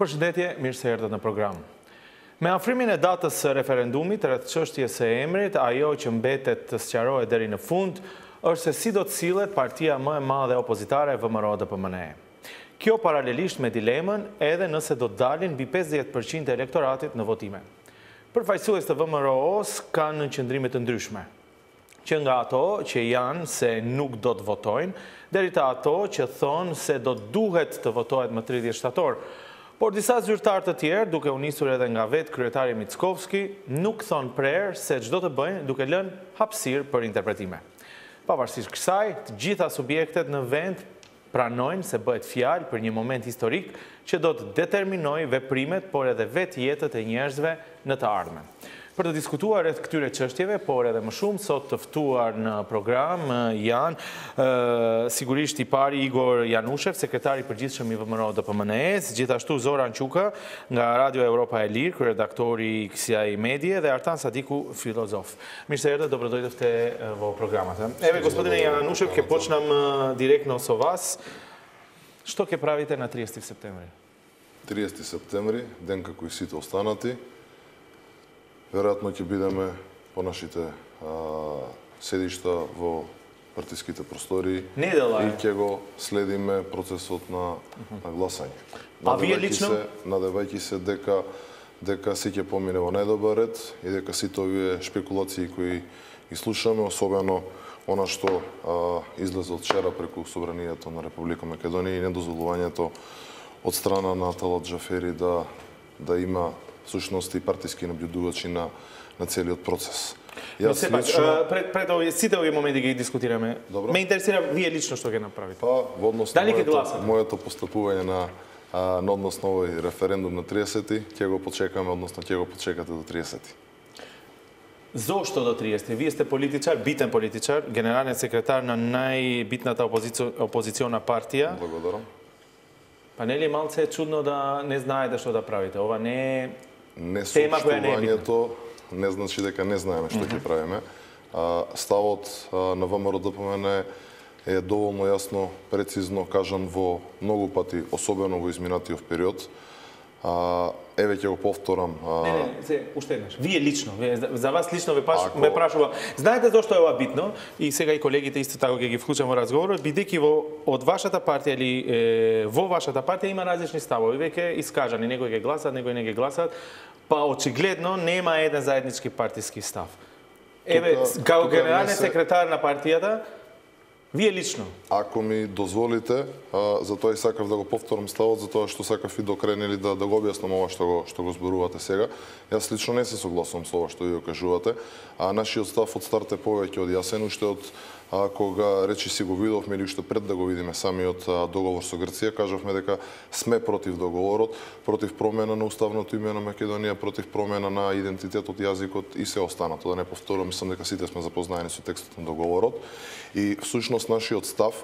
Përshëndetje, mirë se erdhët në program. Me afrimin e datës së referendumit rreth çështjes së emrit, ajo që mbetet të sqarohet deri në fund është se si do të sillet partia më e madhe opozitare VMRO-DPMNE. Kjo paralelisht me dilemën edhe nëse do të dalin mbi 50% e elektoratit në votime. Përfaqësues të VMRO-s kanë qëndrime të ndryshme, që nga ato që janë se nuk do të votojnë, deri te ato që thonë se do duhet të votohet më 30 shtator. Por disa zyrtar të tjerë, duke u nisur edhe nga vetë kryetari Mickovski, nuk thonë prerë se çdo të bëjnë duke lënë hapësirë për interpretime. Pavarësisht kësaj, të gjitha subjektet në vend pranojnë se bëhet fjalë për një moment historik që do të determinojë veprimet, por edhe vetë jetët e njerëzve në të ardhmen. Për të diskutuar rreth këtyre çështjeve, por edhe më shumë, sot të ftuar në program janë sigurisht i pari Igor Janushev, sekretari i përgjithshëm i VMRO-DPMNE-s, gjithashtu Zoran Quka nga Radio Europa e Lirë, redaktori i kësaj medie, dhe Artan Sadiku, filozof. Mirë se erdhët, dobrodošli te vo programat. Evo, gospodine Janushev, ke počnam direktno so vas. Što ke pravite na 30 septembri? 30 септември, ден како и сите останати. Веројатно ќе бидеме по нашите седишта во партиските простории и ќе го следиме процесот на гласање. А вие лично? Надевајќи се дека се ќе помине во најдобар ред и дека сите овие шпекулации кои ги слушаме, особено она што излезе од вчера преку Собранието на Република Македонија и недозволувањето од страна на Талат Джафери да има всушност и партиски наблюдувачи на целиот процес. Јас лично пред сите овие моменти ги дискутираме. Ме интересира вие лично што ќе направите. Па во однос на моето постапување на однос на овој референдум на 30-ти, ќе го почекаме, односно ќе го почекате до 30-ти. Зошто до 30? Вие сте политичар, битен политичар, генерален секретар на најбитната опозициона партија. Благодарам. Па не ли малце чудно да не знаете што да правите? Ова не е тема која не е битна. Несоопштувањето не значи дека не знаеме што ќе правиме. Ставот на ВМРО-ДПМНЕ е доволно јасно, прецизно кажан во многу пати, особено во изминатиот период. Еве ќе го повторам. Не, уште еднаш. Вие лично, за вас лично ме прашува. Знаете зошто е ова битно? И сега и колегите исто така ќе ги вклучам во разговорот, бидејќи од вашата партија или во вашата партија има различни ставови, веќе искажани, некои ќе гласат, некои не ќе гласат, па очигледно нема еден заеднички партиски став. Еве, како генерален секретар на партијата, вие лично? Ако ми дозволите, затоа и сакав да го повторам ставот, затоа што сакав и до крај да го објаснам ова што го зборувате сега. Јас лично не се согласувам со ова што ви го кажувате, нашиот став од старт е повеќе од јасен, уште од кога речи си го видовме или уште пред да го видиме самиот договор со Грција, кажавме дека сме против договорот, против промена на уставното име на Македонија, против промена на идентитетот, јазикот и се останато. Да не повторувам, мислам дека сите сме запознаени со текстот на договорот. И всушност нашиот став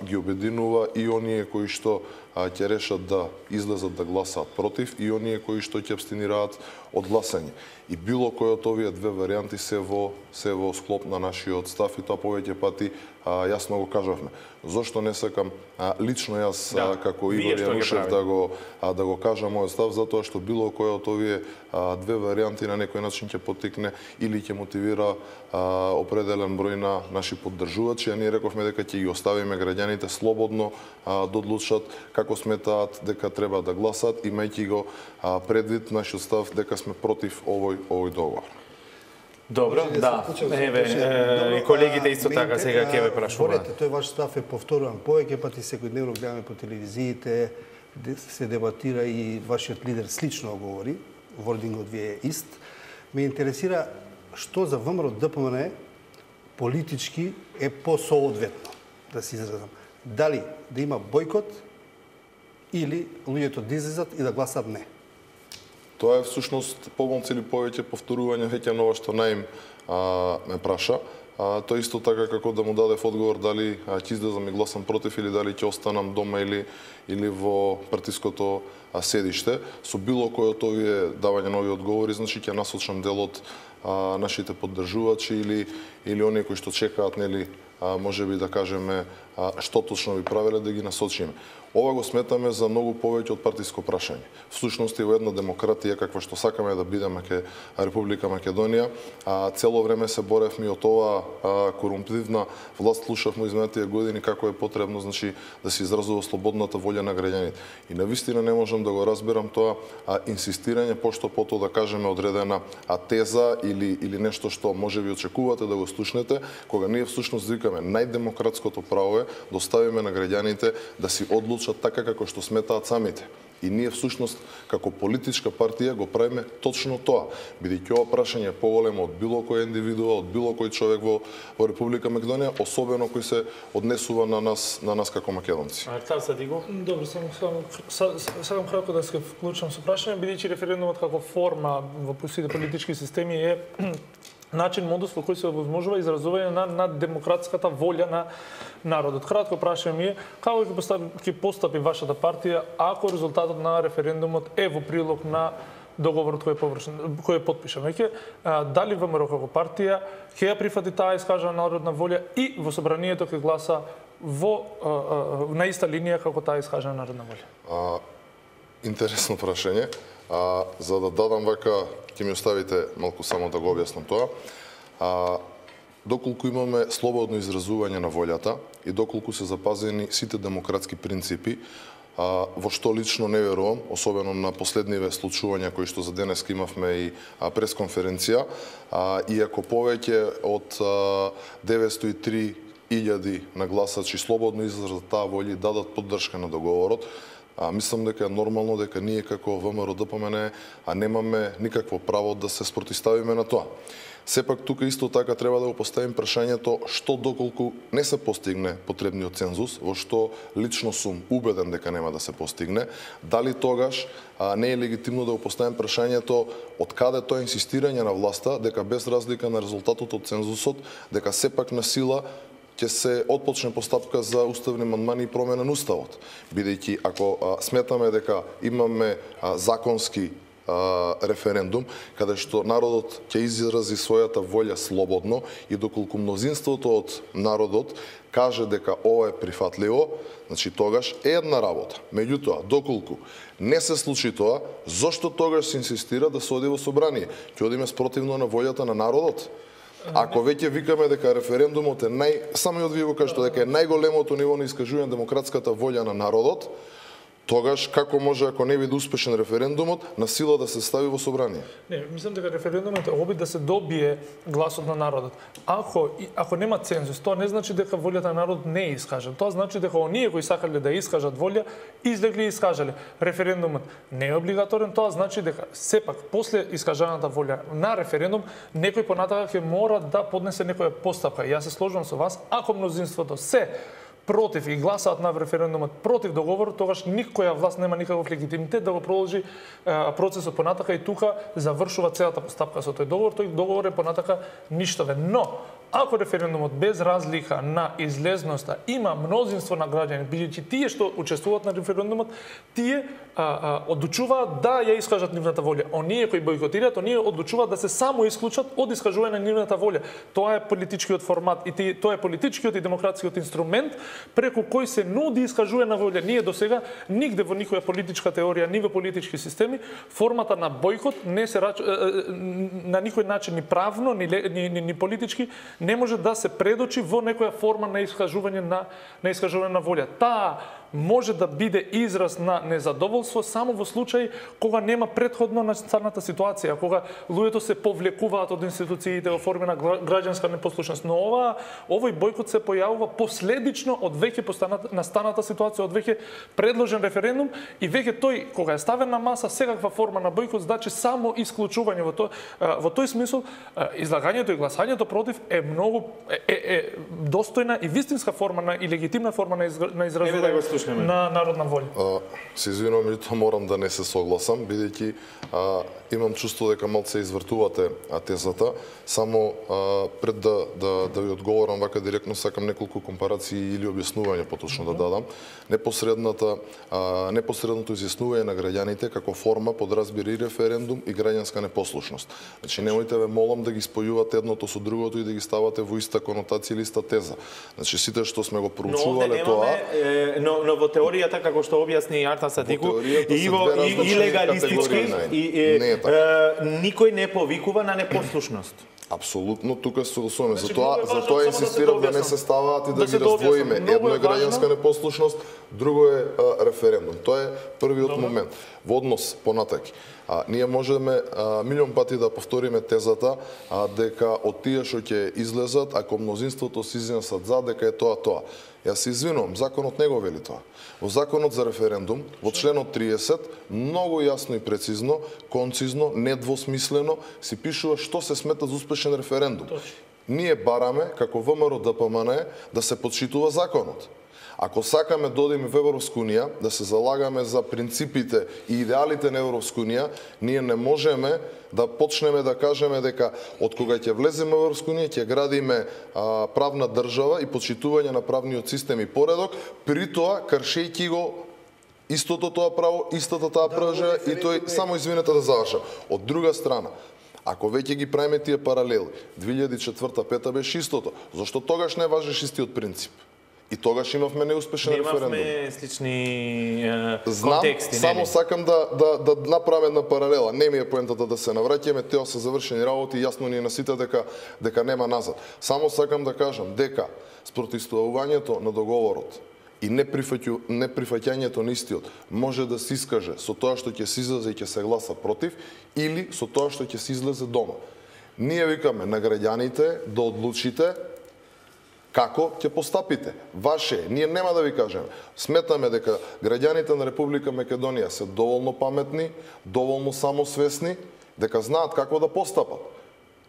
ги обединува и оние кои што ќе решат да излезат да гласаат против и оние кои што ќе абстинираат од гласање. И било кој од овие две варијанти се во склоп на нашиот став и тоа повеќе пати јасно го кажавме. Зошто не сакам лично јас како Игор Јанушев да го кажам мојот став, затоа што било кој од овие две варијанти на некој начин ќе поттикне или ќе мотивира определен број на наши поддржувачи, а ние рековме дека ќе ги оставиме граѓаните слободно да одлучат како сметаат дека треба да гласат, имајќи го предвид нашиот став дека сме против овој договор. Добро, да. Еве, и колегите исто така сега ќе ве прашуваат. Тој ваш став е повторуван повеќе пати, секојдневно гледаме по телевизиите, се дебатира и вашиот лидер слично говори, вордингот ви е ист. Ме интересира што за ВМРО-ДПМНЕ политички е посоодветно, да се изразам. Дали да има бойкот или луѓето да излезат и да гласат не? Тоа е всушност помалку или повеќе повторување веќе на ова што Наим ме праша. Тоа исто така како да му дадев одговор дали ќе излезам и гласам против или дали ќе останам дома или во партиското седиште. Со било кој од овие давање нови одговори, значи ќе насочам дел од нашите поддржувачи или оние кои што чекаат, нели, можеби да кажеме што точно би правеле да ги насочиме. Ова го сметаме за многу повеќе од партиско прашање. Всушност и во една демократија каква што сакаме да бидеме ке Република Македонија, цело време се боревме од ова корумптивна власт, слушавме изминатите години како е потребно, значи, да се изразува слободната волја на граѓаните. И навистина не можам да го разберам тоа инсистирање пошто пото да кажеме одредена теза или нешто што можеби очекувате да го слушнете, кога ние всушност викаме најдемократското право е да оставиме на граѓаните да си одлучат така како што сметаат самите. И ние всушност како политичка партија го правиме точно тоа, бидејќи ова прашање е поголемо од било кој индивидуа, од било кој човек во Република Македонија, особено кој се однесува на нас како македонци. Добро, сакам кратко да се вклучам со прашање, бидејќи референдумот како форма во сите политички системи е начин, модус во кој се овозможува изразување на демократската волја на народот. Кратко прашање ми е, како ќе постапи вашата партија ако резултатот на референдумот е во прилог на договорот кој е потпишан веќе, дали ВМРО како партија ќе ја прифати таа искажана народна волја и во собранието ќе гласа на иста линија како таа искажана народна волја? Интересно прашање. За да дадам вака, ќе ми оставите малку само да го објаснам тоа. Доколку имаме слободно изразување на волјата и доколку се запазени сите демократски принципи, во што лично не верувам, особено на последниве случувања кои што за денес имавме и пресконференција, иако повеќе од 903.000 нагласачи слободно изразат таа волја и дадат поддршка на договорот, мислам дека е нормално дека ние како ВМРО-ДПМН немаме никакво право да се спротивставиме на тоа. Сепак тука исто така треба да го поставим прашањето што доколку не се постигне потребниот цензус, во што лично сум убеден дека нема да се постигне, дали тогаш не е легитимно да го поставим прашањето од каде тоа инсистирање на власта дека без разлика на резултатот од цензусот, дека сепак на сила ќе се отпочне постапка за уставни амандмани и промена на уставот. Бидејќи ако сметаме дека имаме законски референдум, каде што народот ќе изрази својата волја слободно и доколку мнозинството од народот каже дека ова е прифатливо, значи тогаш е една работа. Меѓутоа, доколку не се случи тоа, зошто тогаш се инсистира да се оди во собрание? Ќе одиме спротивно на волјата на народот? Ако веќе викаме дека референдумот е самиот вие го кажете дека е најголемото ниво на искажување на демократската волја на народот, тогаш како може, ако не биде успешен референдумот, на сила да се стави во собрание? Не, мислам дека референдумот е обид да се добие гласот на народот. Ако нема цензус, тоа не значи дека волјата на народот не е искажана. Тоа значи дека оние кои сакале да искажат волја, излегли и искажале. Референдумот не е облигаторен, тоа значи дека сепак после искажаната волја на референдум некој понатака ќе мора да поднесе некоја постапка. Јас се сложувам со вас, ако мнозинството се против и гласаат на референдумот против договорот, тогаш никоја власт нема никаков легитимитет да го продолжи процесот понатака и тука завршува целата постапка со тој договор. Тој договор е понатака ништовен. Но ако референдумот без разлика на излезноста има мнозинство на граѓани, бидејќи тие што учествуваат на референдумот, тие одлучуваат да ја искажат нивната волја. Оние кои бойкотираат, оние одлучуваат да се само исклучат од искажување на нивната волја. Тоа е политичкиот формат и тоа е политичкиот и демократскиот инструмент преку кој се нуди искажување на волја. Ние досега нигде во никоја политичка теорија, ни во политички системи, формата на бойкот не се на никој начин ни правно, ни политички не може да се предочи во некоја форма на искажување на волја. Таа може да биде израз на незадоволство само во случај кога нема претходно настаната ситуација, кога луѓето се повлекуваат од институциите во форма на граѓанска непослушност. Но овој бойкот се појавува последично од веќе настаната ситуација, од веќе предложен референдум и веќе тој кога е ставен на маса секаква форма на бойкот значи само исклучување. Во тој смисол излагањето и гласањето против е многу достојна и вистинска форма и легитимна форма на изразување на народна волја. Се извинувам, меѓутоа морам да не се согласам, бидејќи имам чувство дека малце извртувате тезата. Само пред да ви одговорам вака директно, сакам неколку компарации или објаснување поточно да дадам. Непосредното изјаснување на граѓаните како форма подразбира и референдум и граѓанска непослушност. Значи немојте ве молам да ги спојувате едното со другото и да ги ставате ставате во иста конотација или иста теза. Значи сите што сме го Но проучувале тоа, но во теоријата како што објасни Арта Садику, и легалистички никој не повикува на непослушност. Апсолутно, тука се согласуваме. Затоа инсистирам да не се ставаат и да ги раздвоиме. Едно е граѓанска непослушност, друго е референдум. Тоа е првиот момент. Во однос понатаки. Ние можеме милион пати да повториме тезата дека од тие што ќе излезат, ако мнозинството се изнесат за, дека е тоа. Јас се извинувам, законот не го вели тоа. Во законот за референдум, во членот 30, многу јасно и прецизно, концизно, недвосмислено, си пишува што се смета за успешен референдум. Ние бараме, како ВМРО ДПМН, да се почитува законот. Ако сакаме да одиме во Европска унија, да се залагаме за принципите и идеалите на Европска унија, ние не можеме да почнеме да кажеме дека од кога ќе влеземе во Европска унија ќе градиме правна држава и почитување на правниот систем и поредок, при тоа кршејќи го истото тоа право, истата таа пржа и тој само извинете да завршам. Од друга страна, ако веќе ги правиме тие паралели, 2004-2005 беше истото, зашто тогаш не важеше истиот принцип? И тогаш имавме неуспешен референдум. Немавме слични контексти. Само сакам да направам една паралела. Не ми е поентата да се навраќаме, тео се завршени работи, јасно ни е на сите дека нема назад. Само сакам да кажам дека спротивставувањето на договорот и неприфаќањето на истиот може да се искаже со тоа што ќе се излезе и ќе се гласа против, или со тоа што ќе се излезе дома. Ние викаме на граѓаните да одлучите како ќе постапите. Ваше, ние нема да ви кажеме. Сметаме дека граѓаните на Република Македонија се доволно паметни, доволно самосвесни, дека знаат како да постапат.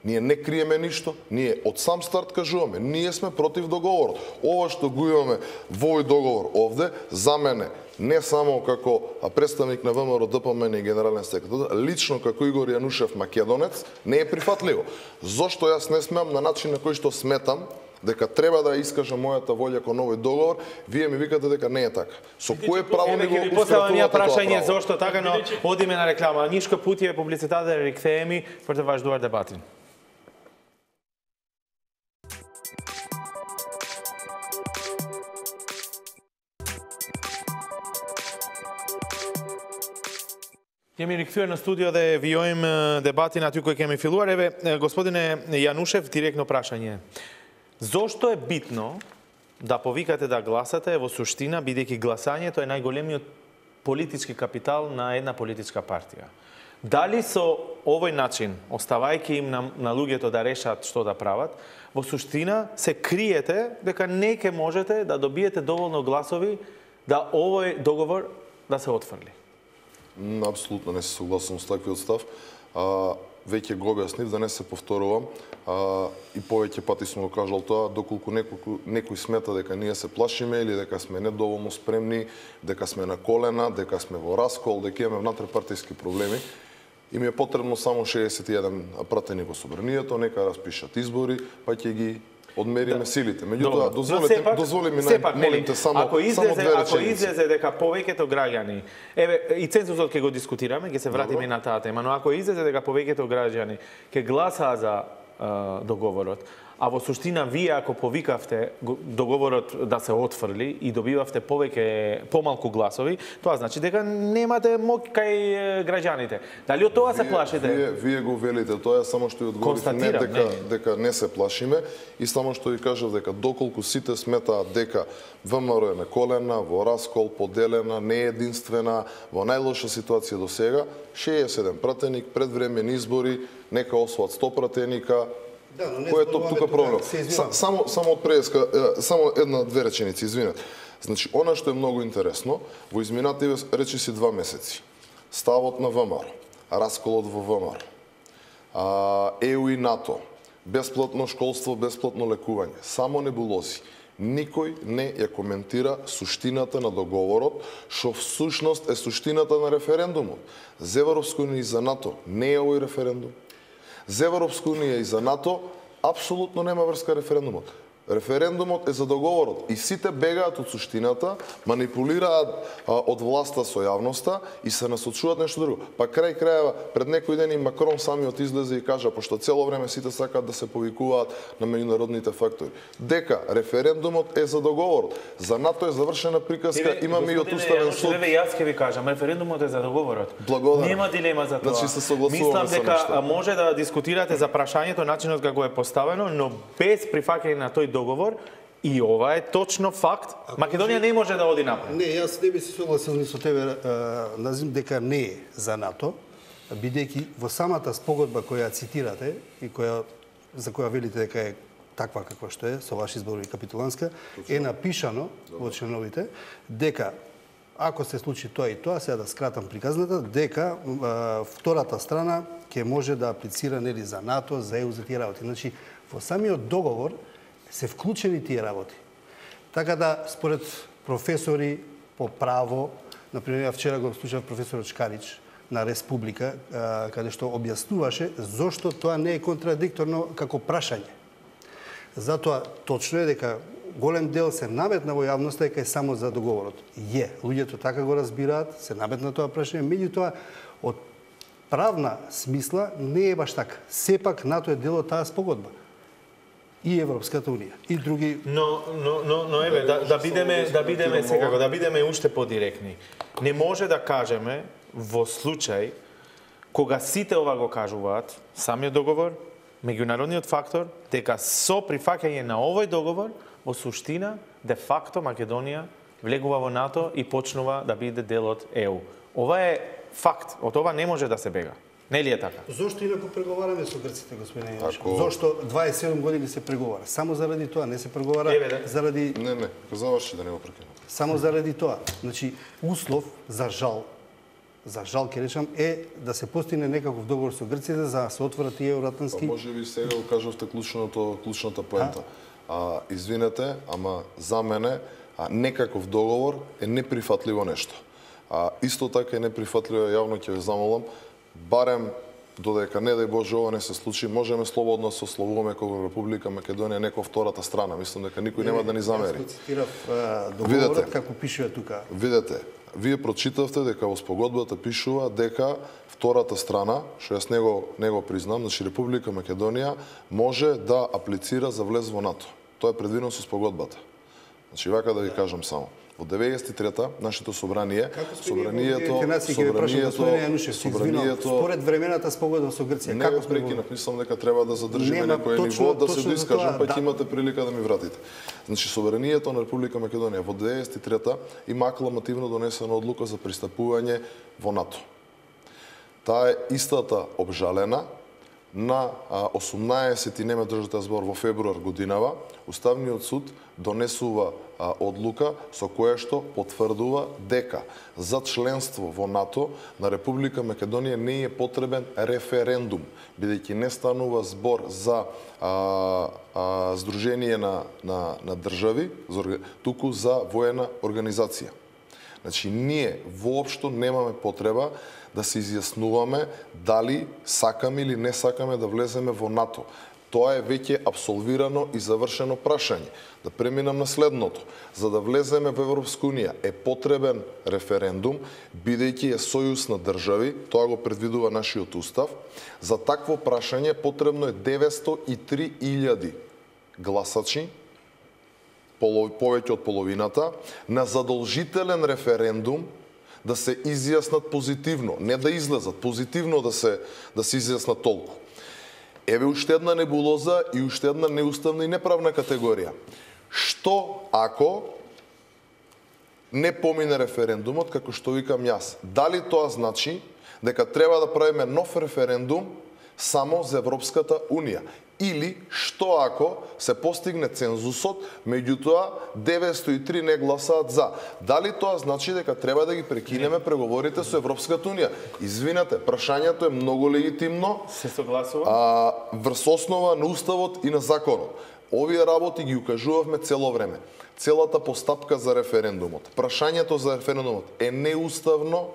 Ние не криеме ништо, ние од сам старт кажуваме, ние сме против договорот. Ова што го имаме во овој договор овде, за мене, не само како представник на ВМРО ДПМН и генерален секретар, лично како Игор Јанушев македонец, не е прифатливо. Зошто јас не смеам на начин на кој што сметам дека треба да искажам мојата волја кон овој договор, вие ми викате дека не е така. Со кое право ми го поставам прашање зошто така, но одиме на реклама. Нишко пути е публицитата да рекθееми пред ваш дуар дебати. Јemi рикthyer на студио да вијоим дебати на тој кој ќе ми филуар. Еве, господине Јанушев, директно прашање. Зошто е битно да повикате да гласате во суштина, бидејќи гласањето е најголемиот политички капитал на една политичка партија? Дали со овој начин, оставајќи им на луѓето да решат што да прават, во суштина се криете дека не ќе можете да добиете доволно гласови да овој договор да се отфрли? Апсолутно не се согласувам со таквиот став. Веќе го објаснив, да не се повторувам, и повеќе пати сум го кажал тоа, доколку некој смета дека ние се плашиме или дека сме недоволно спремни, дека сме на колена, дека сме во раскол, дека имаме внатрешпартиски проблеми, им е потребно само 61 пратени во собранието, нека распишат избори, па ќе ги одмериме силите. Меѓутоа, дозволи ми молите само две реченици. Ако излезе дека повеќето граѓани, еве и цензусот ќе го дискутираме, ќе се вратиме на таа тема, но ако излезе дека повеќето граѓани ќе гласаа за договорот, а во суштина вие ако повикавте договорот да се отфрли и добивавте помалку гласови, тоа значи дека немате моќ кај граѓаните. Дали од тоа се плашите? Вие го велите тоа, само што ја одговорите не дека не се плашиме и само што ви кажав дека доколку сите сметаат дека ВМРО е на колена, во раскол, поделена, не е единствена, во најлоша ситуација до сега, 61 пратеник, предвремени избори, нека освоат 100 пратеника. Да, но не кој е тука проблем? Само од преска, само една-две реченици, извинете. Значи, она што е многу интересно, во изминативе речиси 2 месеци, ставот на ВМРО, расколот во ВМРО, ЕУ и НАТО, бесплатно школство, бесплатно лекување, само небулози. Никој не ја коментира суштината на договорот, што всушност е суштината на референдумот. За Европска унија и за НАТО не е овој референдум. За Европска унија и за НАТО апсолутно нема врска референдумот. Референдумот е за договорот и сите бегаат од суштината, манипулираат од власта со јавноста и се насочуваат нешто друго. Па крај крајава пред некој ден и Макрон самиот излезе и кажа, пошто цело време сите сакаат да се повикуваат на меѓународните фактори, дека референдумот е за договорот. За НАТО е завршена приказка, имаме и од Уставен суд. Јас ќе ви кажам, референдумот е за договорот. Благодарам. Нема дилема за тоа. Значи се согласуваме со дека нешто. може да дискутирате за прашањето, начинот како е поставено, но без прифаќање на тој договор, и ова е точно факт, Македонија не може да оди напред. Не, јас не би се согласил ни со тебе, Назим, дека не е за НАТО, бидејќи во самата спогодба која цитирате и за која велите дека е таква каква што е, со ваши зборови капитуланска, е напишано во членовите дека ако се случи тоа и тоа, сега да скратам приказната, дека втората страна ќе може да аплицира нели за НАТО, за ЕУ, за тие работи. Значи, во самиот договор се вклучени тие работи. Така да, според професори по право, например, вчера го слушав професорот Шкарич на Республика, каде што објаснуваше зошто тоа не е контрадикторно како прашање. Затоа точно е дека голем дел се наметна во јавноста дека е само за договорот. Луѓето така го разбираат, се наметна тоа прашање, меѓутоа од правна смисла не е баш така. Сепак НАТО е дел од таа спогодба. И Европската Унија, и други... Но еве, да бидеме секако, да бидеме уште подиректни. Не може да кажеме во случај кога сите ова го кажуваат, самиот договор, меѓународниот фактор, дека со прифаќање на овој договор, во суштина, де факто Македонија влегува во НАТО и почнува да биде дел од ЕУ. Ова е факт, од ова не може да се бега. Не ли е така? Зошто инаку преговараме со грците, господин Јанишев? Зошто 27 години се преговара? Само заради тоа, не се преговара заради... Не, заврши да не го прекинам. Само заради тоа. Значи, услов за жал ќе речам, е да се постигне некаков договор со грците за да се отворат тие евроатлантски... Може би сега го кажавте клучната поента. Извинете, ама за мене некаков договор е неприфатливо нешто. Исто така е неприфатливо, јавно ќе ве замолам, барем додека не дај Боже ова не се случи, можеме слободно да се ословуваме како Република Македонија некоја втората страна. Мислам дека никој нема да ни замери. Јас цитирав договорот како пишува тука. Видете, вие прочитавте дека во спогодбата пишува дека втората страна, што јас не го признам, значи Република Македонија може да аплицира за влез во НАТО. Тоа е предвидено со спогодбата. Значи вака да ви кажам само. Во 93-та нашето собрание, според времената спогодба со Грција, како сме прекинав, мислам дека треба да задржиме некој ниво да се доискажам, па ќе имате прилика да ми вратите. Значи собранието на Република Македонија во 93-та има акламативно донесена одлука за пристапување во НАТО. Таа е истата обжалена на 18 не ме држите збор во февруар годинава, Уставниот суд донесува одлука со која што потврдува дека за членство во НАТО на Република Македонија не е потребен референдум, бидејќи не станува збор за здружение на држави, туку за воена организација. Значи, ние воопшто немаме потреба да се изјаснуваме дали сакаме или не сакаме да влеземе во НАТО. Тоа е веќе абсолвирано и завршено прашање. Да преминам на следното. За да влеземе во Европска Унија е потребен референдум, бидејќи е сојуз на држави, тоа го предвидува нашиот устав. За такво прашање потребно е 903.000 гласачи, повеќе од половината, на задолжителен референдум да се изјаснат позитивно, не да излезат, позитивно да се изјаснат толку. Еве уште една небулоза и уште една неуставна и неправна категорија. Што ако не помине референдумот, како што викам јас? Дали тоа значи дека треба да правиме нов референдум само за Европската Унија? Или што ако се постигне цензусот, меѓутоа 903 не гласаат за? Дали тоа значи дека треба да ги прекинеме преговорите со Европската Унија? Извинете, прашањето е многу легитимно. Се согласува? Врз основа на уставот и на законот. Овие работи ги укажувавме цело време. Целата постапка за референдумот. Прашањето за референдумот е неуставно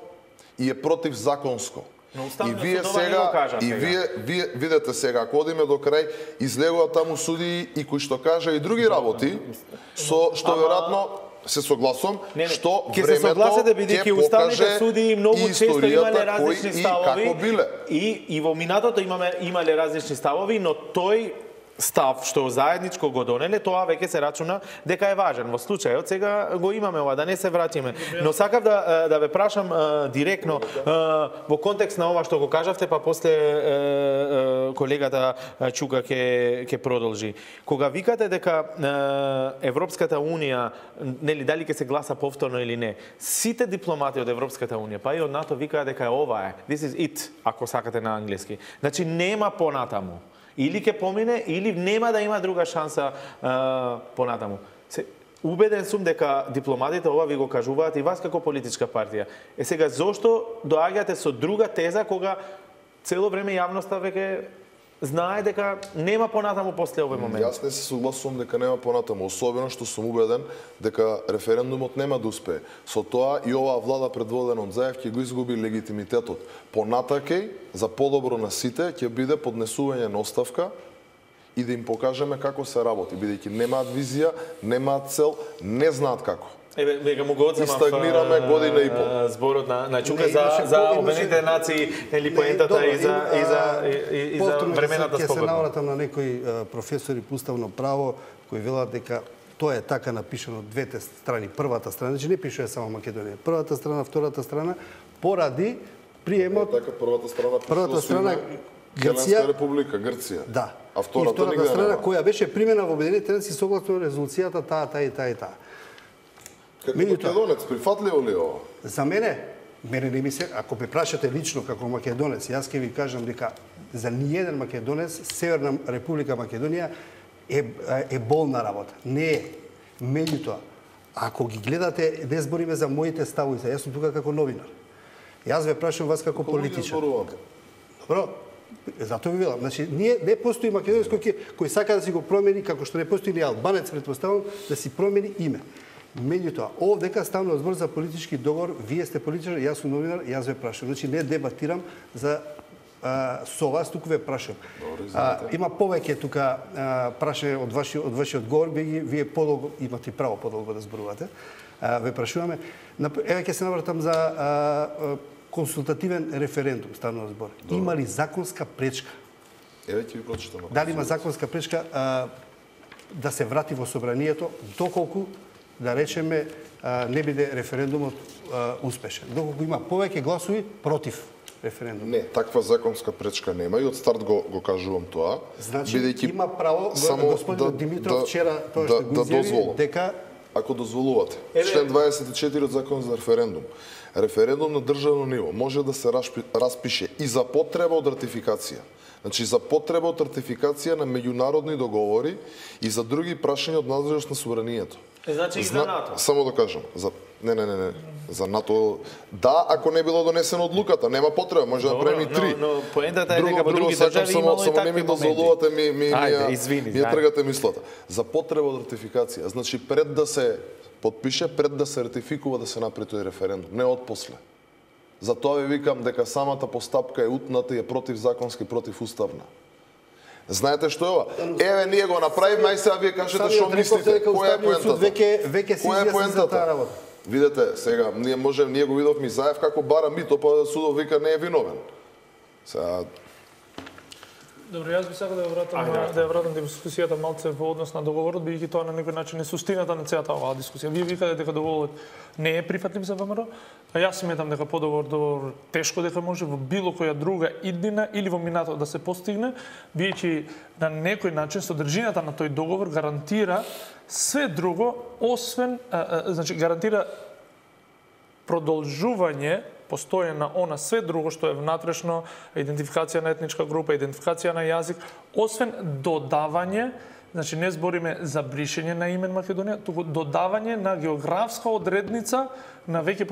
и е противзаконско. И вие сега, вие видете сега, ако одиме до крај, излегуваат таму судии и кои што кажа и други работи, што веројатно се согласувам, што времето ќе покаже и историјата кои и како биле. И во минатото имале различни ставови, но тој став што заедничко го донеле, тоа веќе се рачуна дека е важен. Во случајот сега го имаме ова, да не се враќаме. Но сакав да ве прашам директно во контекст на ова што го кажавте, па после колегата Чука ќе продолжи. Кога викате дека Европската унија, нели дали ќе се гласа повторно или не, сите дипломати од Европската унија, па и од НАТО викаат дека ова е. This is it, ако сакате на англиски. Значи нема понатаму. Или ќе помине, или нема да има друга шанса понатаму. Убеден сум дека дипломатите ова ви го кажуваат и вас како политичка партија. Сега, зошто доаѓате со друга теза кога цело време јавноста веќе знае дека нема понатаму после овој момент? Јас не се согласувам дека нема понатаму, особено што сум убеден дека референдумот нема да успее. Со тоа и оваа влада предводена од Заев ќе го изгуби легитимитетот. Понатаке, за подобро на сите, ќе биде поднесување на оставка и да им покажеме како се работи, бидејќи немаат визија, немаат цел, не знаат како. Веќе му го одземав стагнираме година и пол. Зборот на Чука за Обединетите нации, или поентата и за времената спогодба. Ќе се навратам на некои професори по уставно право кои велат дека тоа е така напишано од двете страни. Првата страна, значи не пишува само Македонија. Првата страна, втората страна, поради приемот... Така, првата страна Грција, република, Грција. Да. А втората страна која беше примена во Обединетите нации согласно резолуцијата таа и таа. Како македонец, прифатливо ли ова? За мене не ми се, ако ме прашате лично како македонец, јас ќе ви кажам дека за ниеден македонец Северна Република Македонија е болна работа. Не е. Меѓутоа, ако ги гледате, не збориме за моите ставови, јас сум тука како новинар. Јас ве прашувам вас како политичар. Добро, затоа ви велам. Значи, не постои македонец кој сака да си го промени, како што не постои ни албанец, претпоставувам, да си промени име. Меѓутоа, овдека ставно збор за политички договор, вие сте политичар, јас сум новинар, јас ве прашувам. Значи, не дебатирам за со вас, туку ве прашувам. Има повеќе тука прашање од вашиот говор, вие подолго имате право подолго да зборувате. Ве прашуваме. Еве ќе се навратам за консултативен референдум, ставно збор. Има ли законска пречка? Еве ќе ви прочитам. Дали има законска пречка да се врати во собранието, доколку да речеме не биде референдумот успешен. Доколку има повеќе гласови против референдум. Не, таква законска пречка нема и од старт го кажувам тоа. Значи има право господин Димитров вчера тоа што го изјави дека ако дозволувате. Член 24 од Закон за референдум. Референдум на државно ниво може да се распише и за потреба од ратификација. Значи за потреба од ратификација на меѓународни договори и за други прашања од надлежност на собранието. Значи и за НАТО. Само да кажам, не. За НАТО, да, ако не било донесена одлуката, нема потреба, може да направим и 3. Но поентата е дека во други држави имало и такви моменти. Дозволувате ми тргате мислата. За потреба од ратификација, значи пред да се подпише, пред да се ратификува, да се направи тој референдум, не од после. Затоа ви викам дека самата постапка е утната и е противзаконски, противуставна. Знаете што е ова? Еве, ние го направивме, ај сега вие кажете што мислите. Која е поентата? Која е поентата? Видете, сега, ние го видовме Заев како бара мито, па судов вика не е виновен. Сега... Добро, јас би сакал да ја вратам дискусијата малце во однос на договорот, бидејќи тоа на некој начин е суштината на целата оваа дискусија. Вие викате дека договорот не е прифатлив за ВМРО, а јас сметам дека договор тешко дека може во било која друга иднина или во минато да се постигне, бидејќи на некој начин содржината на тој договор гарантира све друго, освен, значи гарантира продолжување постоje на она све друго што е внатрешно, идентификација на етничка група, идентификација на јазик, освен додавање Значи не збориме за бришење на име Македонија, туку додавање на географска одредница на веќе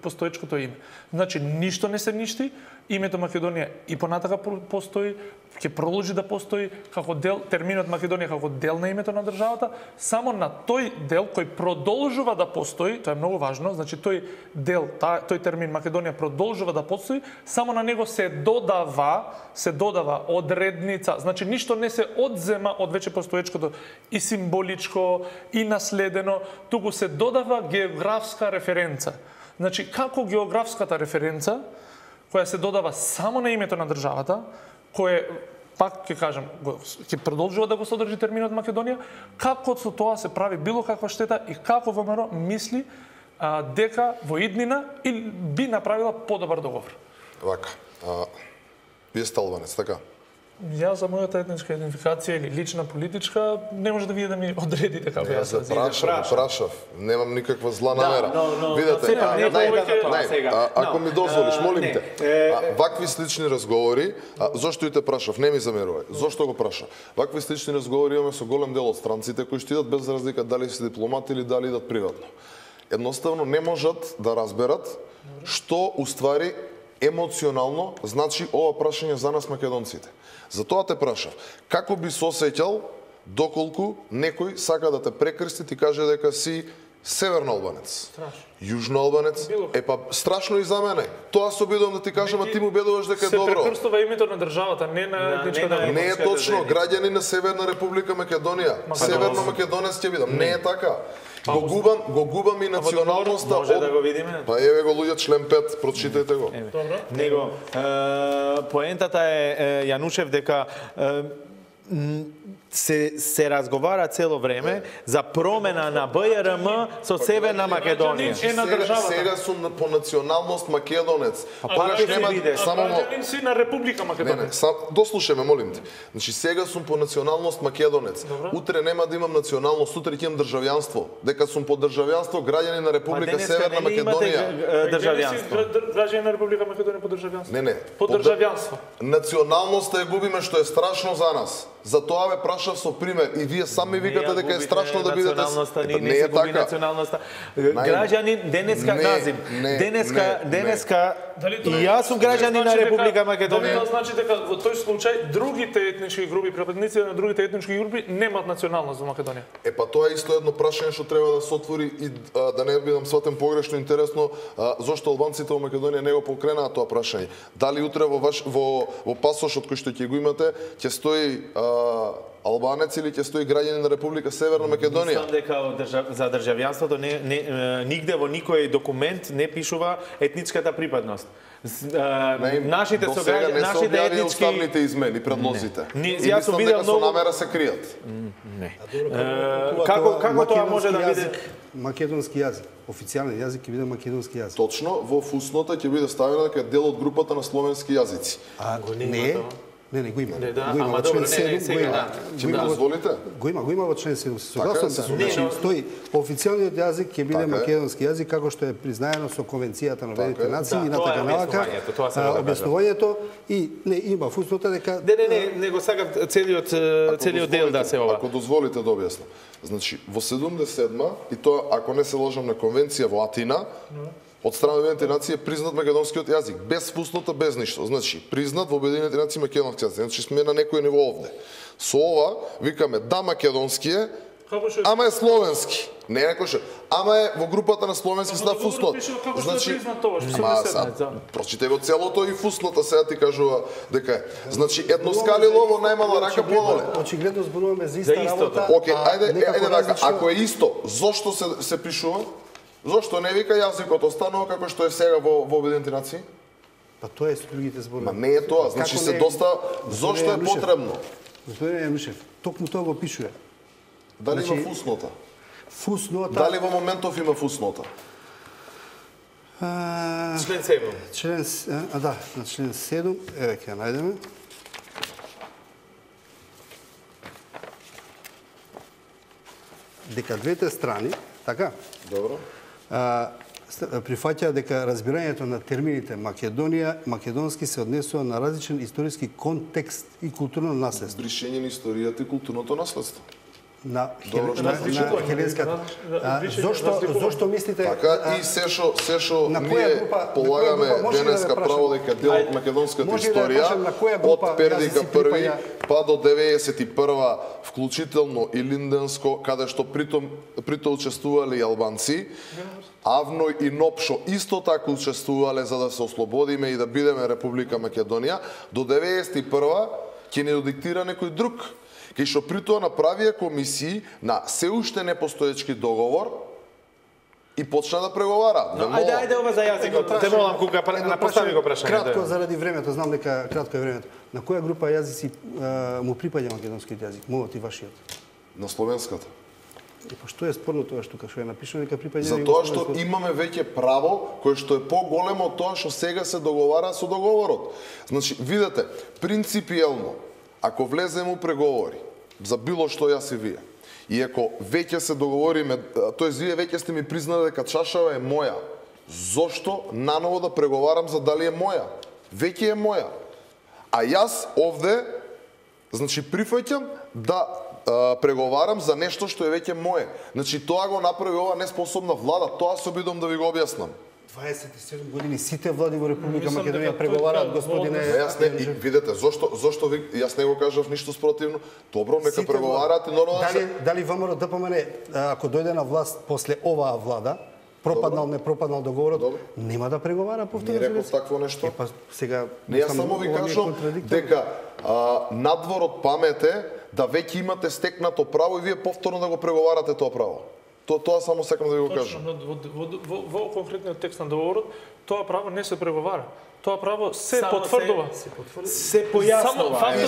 постоечкото име. Значи ништо не се ништи, името Македонија и понатака постои, ќе продолжи да постои како дел, терминот Македонија како дел на името на државата, само на тој дел кој продолжува да постои, тоа е многу важно, значи тој дел, тој термин Македонија продолжува да постои, само на него се додава одредница, значи ништо не се одзема од веќе постоечкото и символичко и наследено, туку се додава географска референца. Значи како географската референца која се додава само на името на државата, кое пак ќе кажам, ќе продолжува да го содржи терминот Македонија, како со тоа се прави било каква штета и како ВМРО мисли дека во иднина и би направила подобар договор. Вака, вие сте албанец, така? Ја за мојата етничка идентификација или лична политичка не може да вие да ми одредите како јас се прашав, немам никаква зла намера. Видете, ако ми дозволиш, молим те. Вакви слични разговори, зошто и те прашав, не ми замерувај. Зошто го прашав? Вакви слични разговори имаме со голем дел од странците кои што идат без разлика дали се дипломати или дали идат приватно. Едноставно не можат да разберат што уствари емоционално значи ова прашање за нас македонците. Затоа те прашав, како би се осеќал доколку некој сака да те прекрсти и каже дека си северно албанец, јужно албанец, страшно и за мене. Тоа се обидувам да ти кажам, а ти му убедуваш дека е добро. Се прекрстува името на државата, не на етничката. Не е точно, граѓани на Северна Република Македонија, северно македонец ќе бидам. Не е така. Го губам и националноста. Може да го видиме? Па еве го луѓе член 5, прочитајте го. Него поентата е Јанушев дека се разговара цело време за промена на БРМ со Северна Македонија. Сега сум по националност македонец. Пак нема само граѓанин си на Република Македонија. Дослушаме, молим те. Значи сега сум по националност македонец. Утре нема да имам националност, утре ќе имам државјанство. Дека сум по државјанство граѓанин на Република Северна Македонија. Граѓанин на Република Македонија по државјанство. Не. По државјанство. Националноста ја губиме, што е страшно за нас. Затоа ве прашав со пример и вие сами викате дека е страшно да бидете. Не е така. Граѓанин денеска назив. Денеска и јас сум граѓанин на Република Македонија. Тоа значи дека во тој случај другите етнички групи, припадници на другите етнички групи немаат националност во Македонија. Па тоа е исто едно прашање што треба да се отвори и да не бидам сватен погрешно интересно, зошто албанците во Македонија не го покренаат тоа прашање. Дали утре во пасошот кој што ќе го имате ќе стои албанец или ќе стои граѓанин на Република Северна Македонија? Мислам дека за државјанството нигде во никој документ не пишува етничката припадност. Нашите сограѓани, нашите етнички уставните измени, предлозите. Јас сум видел многу со намера се кријат. Не. Како тоа може да биде? Македонски јазик, официјален јазик ќе биде македонски јазик. Точно, во фуснота ќе биде ставено дека е дел од групата на словенски јазици. Не, го има. Го има во член 7, го има. Ќе ми дозволите? Го има во член 7. Согласен сум. Стои официјалниот јазик ќе биде македонски јазик како што е признаено со Конвенцијата на Обединетите нации и на така налака. Објаснувањето и не има фуснота дека Не го сакам целиот дел да се ова. Ако дозволите да објаснам. Значи во 77-ма и тоа ако не се лажам на конвенција во Атина, од страна на Обединетите нации е признат македонскиот јазик, без фуснота, без ништо. Значи, признат во Обединетите нации македонски јазик. Значи, сме на некој ниво овде. Со ова, викаме, да, македонски е, ама е словенски. Не е некој ама е во групата на словенски став фуснот. Значи, прочите го целото и фуснота сега ти кажува дека е. Значи, едноскалило во најмала рака пололе. Очигледно зборуваме за иста работа. Океј, ајде така, ако е исто, зошто се пишува? Зошто не вика јазикот останува како што е сега во Обединетите нации? Па тоа е со другите зборови. Ма не е тоа, значи се доста зошто е потребно. Господин Јанушев, токму тоа го пишува. Дали има фуснота? Фуснота. Дали во моментов има фуснота? Член 7. Да, на член 7, еве ќе ја најдеме. Дека двете страни, така? Добро. Прифаќа дека разбирањето на термините Македонија, македонски се однесува на различен историски контекст и културно наследство. Бришење на историјата и културното наследство. на хеленската. Зошто мислите? Така и се што ние полагаме денеска право дека дел од македонската историја од Пердика први па до 91 вклучително и Линденско, каде што прито учествувале и албанци, Авно и Нопшо исто така учествувале за да се ослободиме и да бидеме Република Македонија, до 91 ќе не диктира некој друг. Кај што при тоа направија комисии на се уште непостоечки договор и почна да преговара. Ајде ова за јазикот. Те молам Кука, постави го прашање. Кратко заради времето, знам дека кратко е времето. На која група јазици му припаѓа македонскиот јазик, мојот и вашиот? На словенската. Па што е спорно тоа што е напишано дека припаѓа? Затоа што имаме веќе право кое што е поголемо од тоа што сега се договара со договорот. Значи, видете, принципиелно, ако влеземе у преговори за било што јас и вие, и ако веќе се договориме, тоест вие веќе сте ми признали дека чашава е моја, зошто наново да преговарам за дали е моја? Веќе е моја. А јас овде, значи, прифаќам да преговарам за нешто што е веќе мое. Значи, тоа го направи ова неспособна влада, тоа се обидам да ви го објаснам. 27 години сите влади во Република Македонија преговараат, господине. Видете, зошто ви, јас не го кажав ништо спротивно. Добро, нека преговараат и нормално. Дали ВМРО ДПМН, ако дојде на власт после оваа влада, пропаднал, не пропаднал договорот, нема да преговара повторно? Не реков такво нешто. Па сега не, јас само ви кажам дека надвор од памет е да веќе имате стекнато право и вие повторно да го преговарате тоа право. Тоа само сакам да ви го кажам. Во конкретниот текст на договорот, тоа право не се преговара. Тоа право се потврдува. Се појаснува.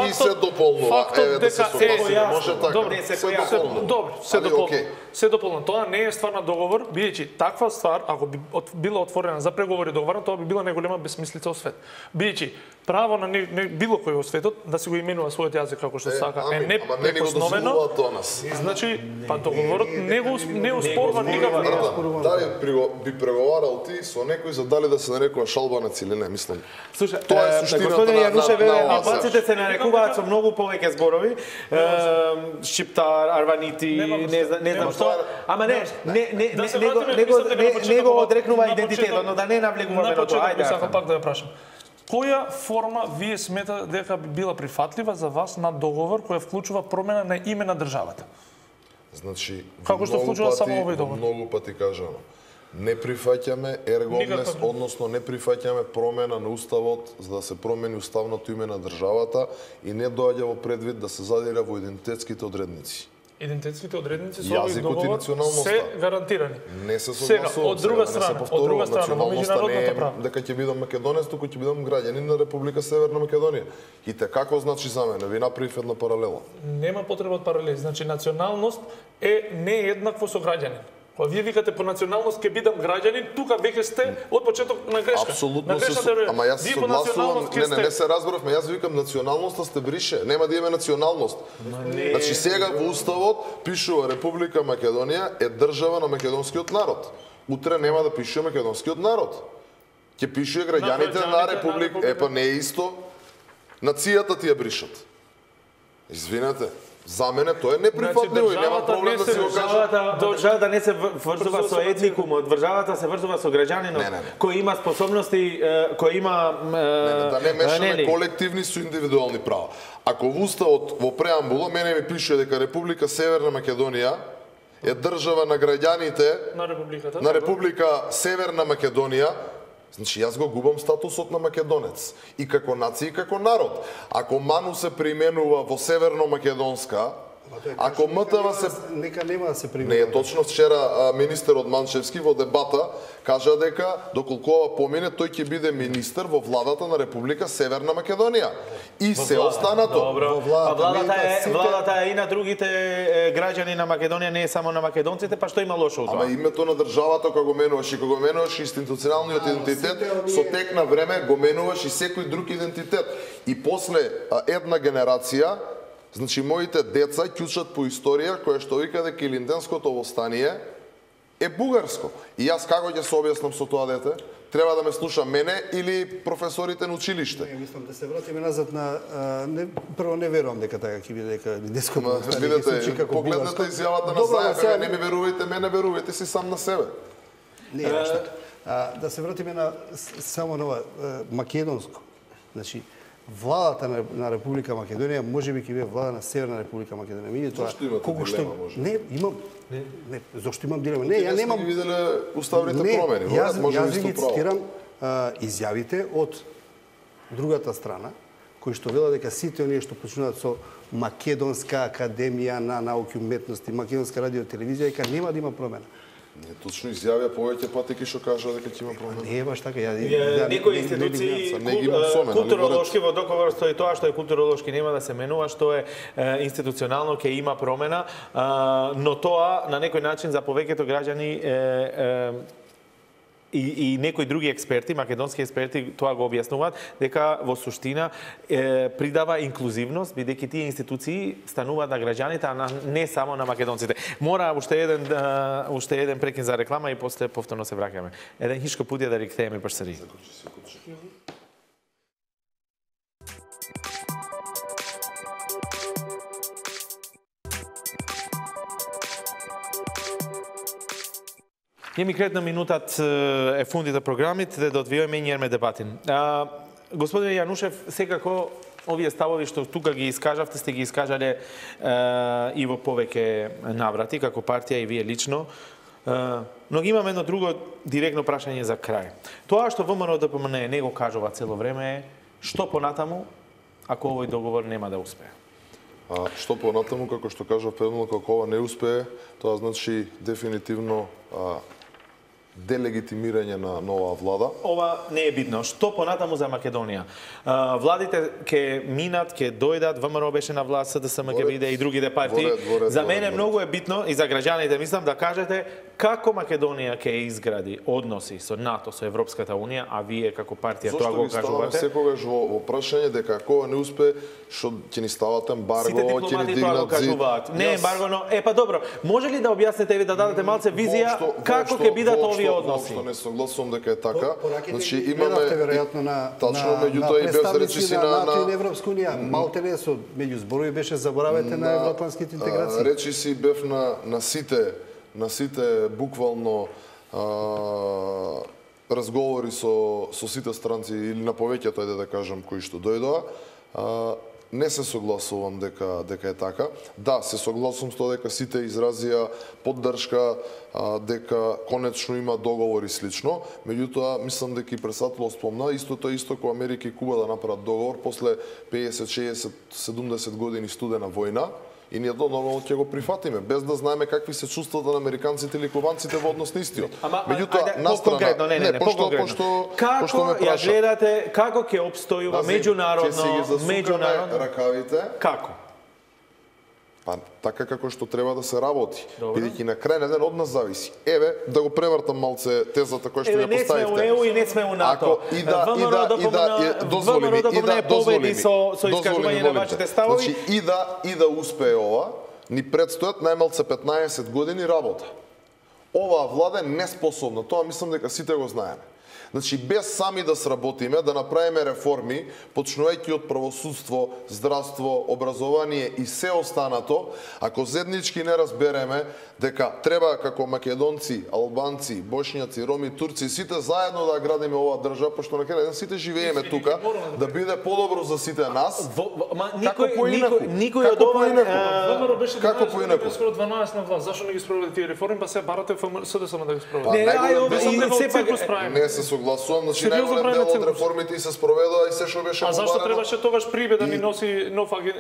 И се дополнува. Фактот дека може така. Добро, се дополнува. Се дополнува. Тоа не е ствар на договор, бидејќи таква ствар, ако би била отворена за преговори договор, тоа би била најголема бесмислица во свет. Бидејќи право на било кој во светот да се го именува својот јазик како што сака е неприкосновено. Значи, па договорот не успорва никаква. Дали би преговарал ти со некој за дали да се нарекува шалбанец или не, мислам. Слушај, тоа е суштината господин Јанушев, албанците се нарекуваат со многу повеќе зборови. Шиптар, арванити, не знам што. Ама не го одрекнува идентитетот, но да не навлегуваме на тоа. Ајде, сакам пак да ја прашам. Која форма вие сметате дека би била прифатлива за вас на договор која вклучува промена на име на државата? Значи, како што вклучува само овој договор? Многу пати кажано. Не прифаќаме ергомнес, односно не прифаќаме промена на уставот за да се промени уставното име на државата и не доаѓа во предвид да се задира во идентитетските одредници. Идентитетските одредници со овој договор се гарантирани. Не се согласувам. Сега, од друга страна, во меѓународното право. Дека ќе бидам македонец, туку ќе бидам граѓанин на Република Северна Македонија. И те како значи за мене? Ви направив една паралела. Нема потреба од паралели. Значи, националност е нееднакво со граѓанин. Кога вие викате по националност ќе бидам граѓанин, тука веќе сте од почеток на грешка. Апсолутно ама јас се согласувам, не се разбравме, јас викам националноста сте брише, нема да има националност. Значи сега во уставот пишува Република Македонија е држава на македонскиот народ. Утре нема да пише македонскиот народ. Ќе пише граѓаните на Република, епа не е исто. Нацијата ти ја бришат. Извинете. За мене тоа е неприфатливо и нема проблем да се го кажа. Државата не се врзува со етникумот, државата се врзува со граѓанинот кој има способности, кој има да не мешаме колективни со индивидуални права. Ако во уставот во преамбула мене ми пише дека Република Северна Македонија е држава на граѓаните на Република Северна Македонија, значи јас го губам статусот на македонец и како нација и како народ. Ако Ману се преименува во Северно-Македонска, ако МТВ се нека нема да се преименува. Не е точно, вчера министерот Манчевски во дебата кажа дека доколку ова помине тој ќе биде министер во владата на Република Северна Македонија. И се останато. Владата е и на другите граѓани на Македонија, не е само на македонците, па што има лошо од тоа? Ама името на државата кога го менуваш и кога го менуваш институционалниот идентитет, со тек на време го менуваш и секој друг идентитет. И после една генерација, значи моите деца ќе учат по историја која што вика дека Илинденското восстание е бугарско. И јас како ќе се објаснам со тоа дете? Треба да ме слуша мене или професорите на училиште? Не, мислам да се вратиме назад на прво не верувам дека така ќе биде дека диското. Видете, погледнете изјавата на Заев, не ми верувајте мене, верувајте си сам на себе. Не, да се вратиме на само на македонско. Значи, владата на Република Македонија можеби ќе биде влада на Северна Република Македонија. Меѓутоа, колку што не, имам не, зошто имам дилема? Не, ја немам. Не виделе уставните промени. Јас ги цитирам изјавите од другата страна, кои што велат дека сите оние што почнуваат со Македонска академија на науки и уметности, Македонска радио и телевизија, дека нема да има промена. Не, точно изјавија повеќе пати што кажа дека ќе има промена. Не е баш така. Некои институции културолошки во договор стои тоа што е културолошки нема да се менува, што е институционално ќе има промена, но тоа на некој начин за повеќето граѓани и некои други експерти, македонски експерти, тоа го објаснуваат, дека во суштина придава инклузивност, бидејќи тие институции стануваат на граѓаните, а не само на македонците. Мора уште еден прекин за реклама и после повторно се враќаме. Еден хишко пут е да ректеме парсари. Јеми кретна минутат е фундите програмите да одвиеме и нерме дебатин. Господин Јанушев, секако овие ставови што тука ги искажавте, сте ги искажале и во повеќе наврати, како партија и вие лично. Но имам едно друго директно прашање за крај. Тоа што ВМРО ДПМН не го кажува цело време е што понатаму ако овој договор нема да успее? Што понатаму, како што кажав предно, како ова не успее, тоа значи дефинитивно делегитимирање на нова влада. Ова не е битно. Што понатаму за Македонија? Владите ќе минат, ќе дојдат, ВМРО беше на власт, СДСМ ќе биде и другите партии. За мене многу е битно и за граѓаните мислам да кажете како Македонија ќе изгради односи со НАТО, со Европската унија, а вие како партија тоа го кажувате. Зошто ги ставаме секогаш во прашање дека ако не успе, што ќе ни стават ембарго, ќе ни дигнат зид? Не ембарго, но па добро. Може ли да објасните и да дадете малце визија како ќе бидат овие односи? Што не согласувам дека е така. Значи имаме веројатно на представници на НАТО и на Европска унија, малте не со меѓу зборови беше заборавете на европските интеграции. Речи си бев на сите буквално разговори со сите странци или на повеќето, ајде да кажам, кои што дојдоа. Не се согласувам дека е така. Да, се согласувам со тоа дека сите изразија поддршка, дека конечно има договор и слично. Меѓутоа, мислам дека и председателот спомна, исто како Америка и Куба да направат договор после 50, 60, 70 години студена војна. И ние нормално ќе го прифатиме, без да знаеме какви се чувствата на американците или кубанците во однос на истиот. Меѓутоа, поконкретно, како ја гледате, како ќе обстојува меѓународно ракавите? Како? Па така како што треба да се работи. Бидејќи на крај ден од нас зависи. Еве, да го превртам малце тезата која што ја поставивте. Не сме у ЕУ и не сме у НАТО. Дозволи со искажување на вашите ставови. Значи, и да успее ова, ни предстојат најмалце 15 години работа. Оваа влада е неспособна. Тоа мислам дека сите го знаеме. Значи, без сами да сработиме, да направиме реформи, почнувајќи од правосудство, здравство, образование и се останато, ако заеднички не разбереме дека треба како македонци, албанци, бошњаци, роми, турци, сите заедно да градиме оваа држава, пошто на крај сите живееме тука, да биде подобро за сите нас. Како поинаку? Никој од ова ВМРО беше 12 на власт. Зашто не ги спроведе тие реформи, па се барате СДСМ да ги спроведе? Не се согласувам, значи најголем дел од реформите и се спроведоа и се што беше побарено. А зашто требаше тогаш Прибе да ни носи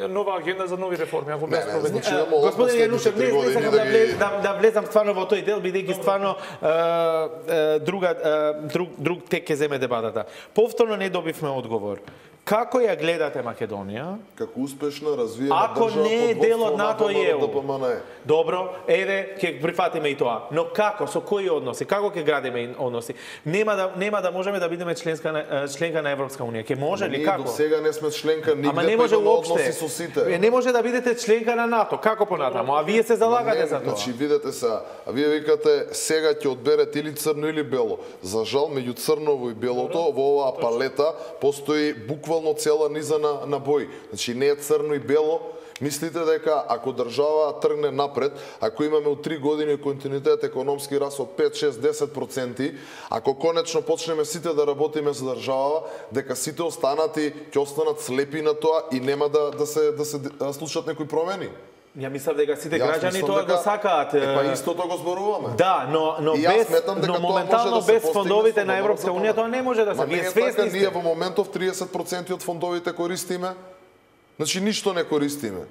нова агенда за нови реформи, ако бе спроведени? Господин Јанушев, не сакам да влезам стварно во тој дел, бидејќи стварно друг тек ќе земе дебатата. Повторно не добивме одговор. Како ја гледате Македонија? Како успешна, развиена Ако држава не е под дел од воството НАТО на и ЕУ. ДПМН. Добро, еве, ќе прифатиме и тоа. Но како, со кои односи? Како ќе градиме односи? Нема да можеме да бидеме членка на Европска унија. Ќе може ли Ние како? до сега не сме членка нигде, Ама не може имаме уопште. односи со сите. Не може да бидете членка на НАТО. Како понатаму? А вие се залагате за тоа. Значи, видете се, вие викате сега ќе одберете или црно или бело. За жал, меѓу црново и белото, во оваа палета постои буквално цела низа на бои. Значи, не е црно и бело. Мислите дека ако држава тргне напред, ако имаме од 3 години континуитет економски раст од 5, 6, 10%, ако конечно почнеме сите да работиме за држава, дека сите останати ќе останат слепи на тоа и нема да се случат некои промени. Ја мислам дека сите граѓани тоа го сакаат. Па истото го зборуваме. Да, но моментално без фондовите на Европска унија тоа не може да се. Вие свесни сте. Ние во моментов 30% од фондовите користиме. Значи ништо не користиме.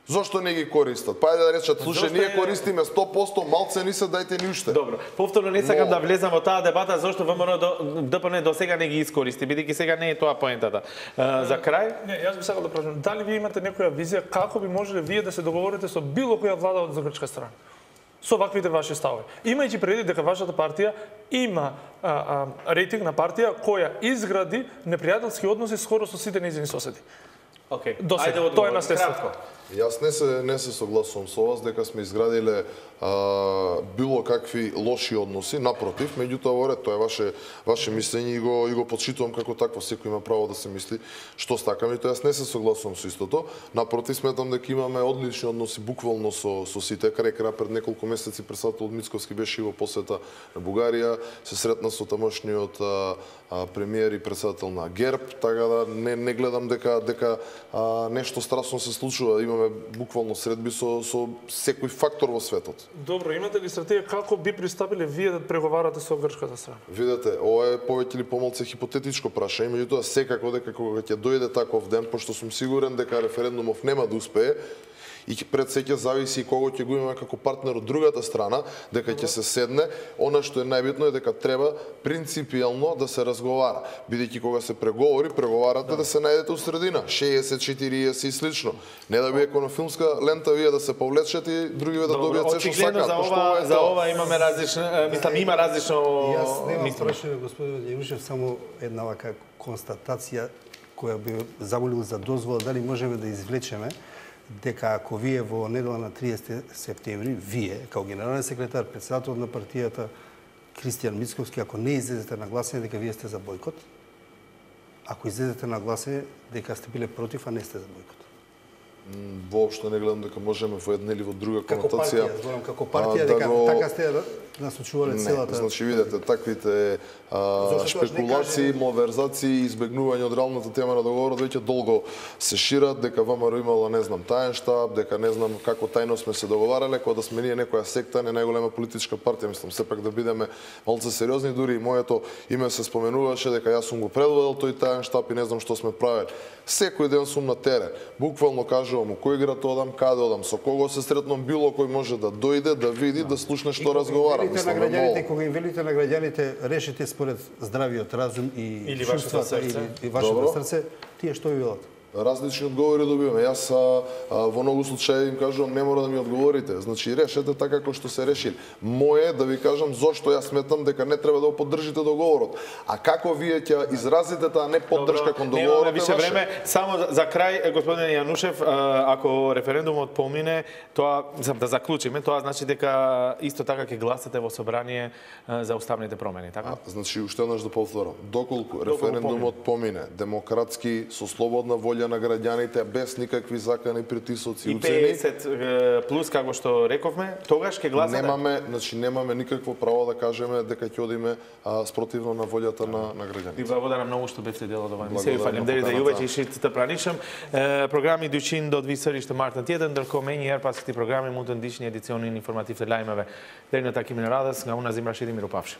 Зошто не ги користат? Па да речат, слушај, ние користиме 100%, малце ни се, дајте ни уште. Добро. Повторно не сакам да влезам во таа дебата зошто ВМРО ДПМН до сега не ги искористи, бидејќи сега не е тоа поентата. За крај? Не, јас би сакал да прашам, дали вие имате некоја визија како би можеле вие да се договорите со било која влада од грчка страна? Со ваквите ваши ставови. Имајќи предвид дека вашата партија има рейтинг на партија која изгради непријателски односи скоро со сите нејзини соседи. Океј. Ајде, тоа е наследство. Јас не се согласувам со вас дека сме изградиле било какви лоши односи, напротив, меѓутоа во ред, тоа е ваше мислење и го почитувам како такво, секој има право да се мисли што стакаме, тоа јас не се согласувам со истото. Напротив, сметам дека имаме одлични односи буквално со сите. Крај пред неколку месеци председател Мицковски беше во посета на Бугарија, се сретна со тамошниот премиер и председател на ГЕРБ, така да не гледам дека нешто страшно се случува. Имаме буквално средби со секој фактор во светот. Добро, имате ли стратегија како би пристапиле вие да преговарате со грчката страна? Видете, ова е повеќе или помалку хипотетичко прашање, меѓутоа секако дека кога ќе дојде таков ден, пошто сум сигурен дека референдумов нема да успее, и пред се ќе зависи кого ќе го имаме како партнер од другата страна, дека ќе се седне. Она што е најбитно е дека треба принципиелно да се разговара, бидејќи кога се преговарате да се најдете у средина, 60, 40 и слично. Не да биде како филмска лента вие да се повлечете и другиве да добијат се што сакаат. За ова имаме различно, мислам има различно. Јас немам прашање, господин Јанушев, само една вака констатација која би замолил за дозвола дали можеме да извлечеме дека ако вие во недела на 30 септември, вие, као генерален секретар, председател на партијата Кристијан Мицковски, ако не излезете на гласење дека вие сте за бојкот, ако излезете на гласење дека сте биле против, а не сте за бојкот. Воопшто не гледам дека можеме во една или во друга конотација. Како партија, дека така сте насочувале целата. Значи видете, таквите шпекулации, малверзации, избегнување од реалната тема на договорот веќе долго се шират, дека ВМРО имало не знам таен штаб, дека не знам како тајно сме се договарале, кога да сме ние некоја секта, не најголема политичка партија, мислам сепак да бидеме малце сериозни, дури и моето име се споменуваше дека јас сум го предводел тој таен штаб и не знам што сме правеле. Секој ден сум на терен. Буквално кажувам у кој град одам, каде одам, со кого се сретнам, било кој може да дојде, да види, да слушне што разговара. Кога им велите на граѓаните, решите според здравиот разум и чувствата или вашето срце, тие што ви велат? Различни одговори добиваме. Јас во многу случаи им кажувам не мора да ми одговорите. Значи решете така како што се решили. Мое да ви кажам зошто јас сметам дека не треба да го поддржите договорот. А како вие ќе изразите таа не поддршка кон договорот? Немаме више време. Само за крај, господин Јанушев, ако референдумот помине, тоа да заклучиме, тоа значи дека исто така ќе гласате во собрание за уставните промени, така? Значи уште еднаш да повторам, доколку референдумот помине демократски со слободна волја на граѓаните без никакви закани, притисоци и уцени. И 50 плюс како што рековме, тогаш ќе гласате. Немаме никакво право да кажеме дека ќе одиме спротивно на волјата на граѓаните. И благодарам многу што бевте дел од ова емисија. Фалемдери да јувачи шитите пранишам. Програми дучин до 2 съриште мартен тjedен, дърко мени ерпаските програми мутен дишни едиционни информативни лајмеве. Дерно таки ми радост, га уназим Рашид Миропавши.